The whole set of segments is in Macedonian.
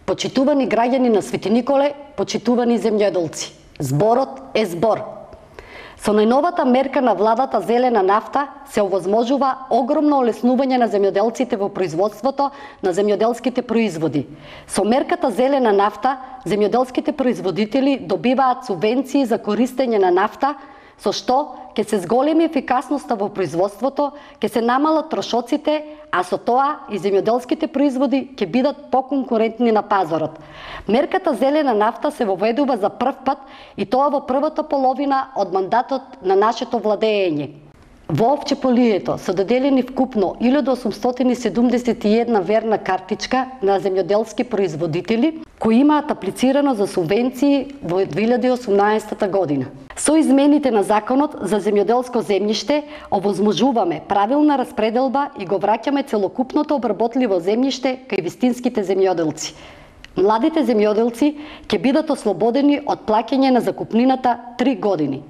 Почитувани граѓани на Свети Николе, почитувани земјоделци, зборот е збор. Со најновата мерка на владата зелена нафта се овозможува огромно олеснување на земјоделците во производството на земјоделските производи. Со мерката зелена нафта, земјоделските производители добиваат субвенции за користење на нафта, со што ќе се зголеми ефикасноста во производството, ќе се намалат трошоците, а со тоа и земјоделските производи ќе бидат поконкурентни на пазарот. Мерката зелена нафта се воведува за прв пат и тоа во првата половина од мандатот на нашето владење. Во Овчеполието се доделени вкупно 1871 верна картичка на земјоделски производители кои имаат аплицирано за субвенции во 2018 година. Со измените на Законот за земјоделско земјиште овозможуваме правилна распределба и го враќаме целокупното обработливо земјиште кај вистинските земјоделци. Младите земјоделци ќе бидат ослободени од плаќање на закупнината 3 години.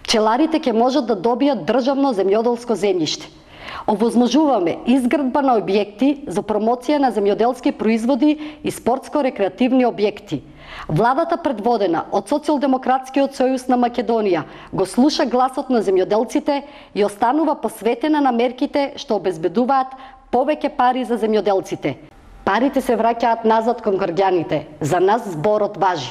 Пчеларите ќе можат да добијат државно земјоделско земјиште. Овозможуваме изградба на објекти за промоција на земјоделски производи и спортско-рекреативни објекти. Владата предводена од Социјалдемократскиот сојуз на Македонија го слуша гласот на земјоделците и останува посветена на мерките што обезбедуваат повеќе пари за земјоделците. Парите се враќаат назад кон граѓаните. За нас зборот важи.